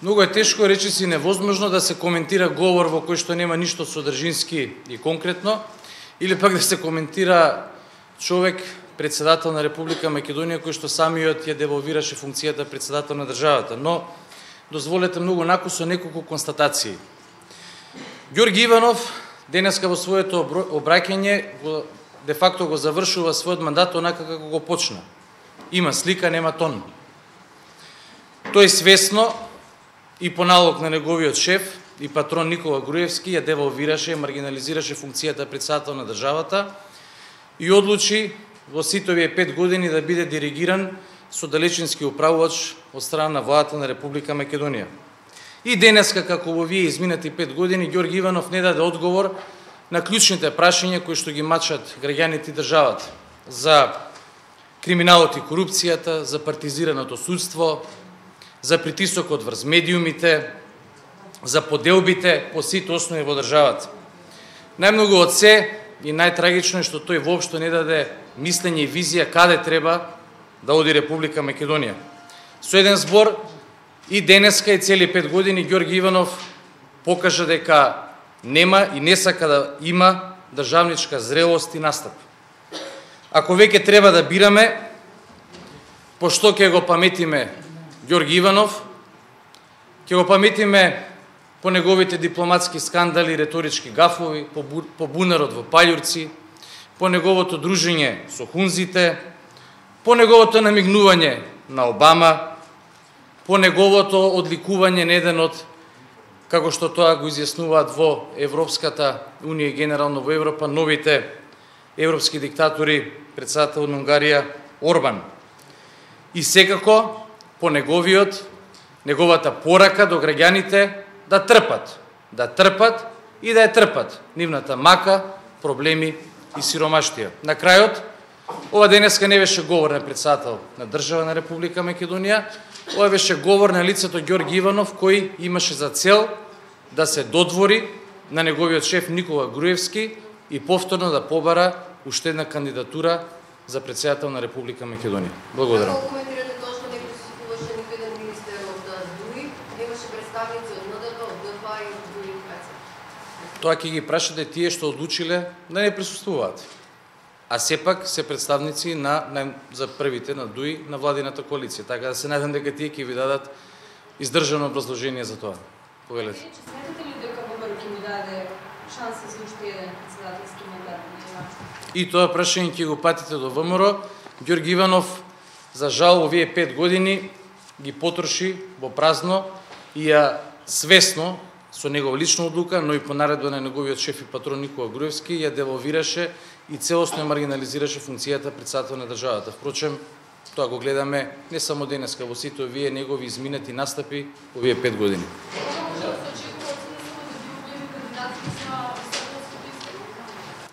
Многу е тешко, речиси невозможно да се коментира говор во кој што нема ништо содржински и конкретно, или пак да се коментира човек, председател на Република Македонија, кој што самиот ја деволвираше функцијата председател на државата. Но, дозволете многу накусо неколку констатации. Ѓорги Иванов денеска во своето обраќање де факто го завршува својот мандат онака како го почна. Има слика, нема тон. Тој свесно и по налог на неговиот шеф и патрон Никола Груевски ја девалвираше, маргинализираше функцијата председател на државата и одлучи во сите овие 5 години да биде диригиран со далечински управувач од страна на владата на Република Македонија. И денеска, како во овие изминати 5 години, Ѓорги Иванов не даде одговор на клучните прашања кои што ги мачат граѓаните и државата за криминалот и корупцијата, за партизираното судство, за притисокот врз медиумите, за поделбите по сите основи во државата. Најмногу од се и најтрагично е што тој воопшто не даде мислење и визија каде треба да оди Република Македонија. Со еден збор, и денеска и цели 5 години Ѓорги Иванов покажа дека нема и не сака да има државничка зрелост и настап. Ако веќе треба да бираме, пошто ќе го паметиме Ѓорги Иванов, ќе го паметиме по неговите дипломатски скандали, реторички гафови, по бунарот во Пајурци, по неговото дружење со хунзите, по неговото намигнување на Обама, по неговото одликување на еден од, како што тоа го изјаснуваат во Европската Унија и генерално во Европа, новите европски диктатори, председател на Унгарија Орбан. И секако по неговата порака до граѓаните да трпат и да ја трпат нивната мака, проблеми и сиромаштија. На крајот, ова денеска не беше говор на председател на држава на Република Македонија, ова беше говор на лицето Ѓорги Иванов, кој имаше за цел да се додвори на неговиот шеф Никола Груевски и повторно да побара уште една кандидатура за председател на Република Македонија. Благодарам. Тоа ќе ги прашате тие што одлучиле да не присуствуваат. А сепак се представници за првите на ДУИ на владината коалиција. Така да се надам дека тие ќе ви дадат издржано образложение за тоа. Повелете. Сметате ли дека ВМРО ќе му даде шанса за уште еден председателски мандат? И тоа прашање ќе го патите до ВМРО. Ѓорги Иванов, за жал, овие 5 години ги потроши во празно и ја свесно, со негова лична одлука, но и по наредба на неговиот шеф и патрон Никола Груевски, ја девалвираше и целосно ја маргинализираше функцијата председател на државата. Впрочем, тоа го гледаме не само денеска, во сите овие негови изминати настапи овие 5 години.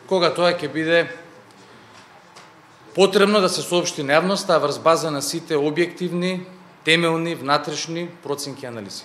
Кога тоа ќе биде потребно да се соопшти на јавноста, а врз база на сите објективни, темелни, внатрешни проценки и анализи.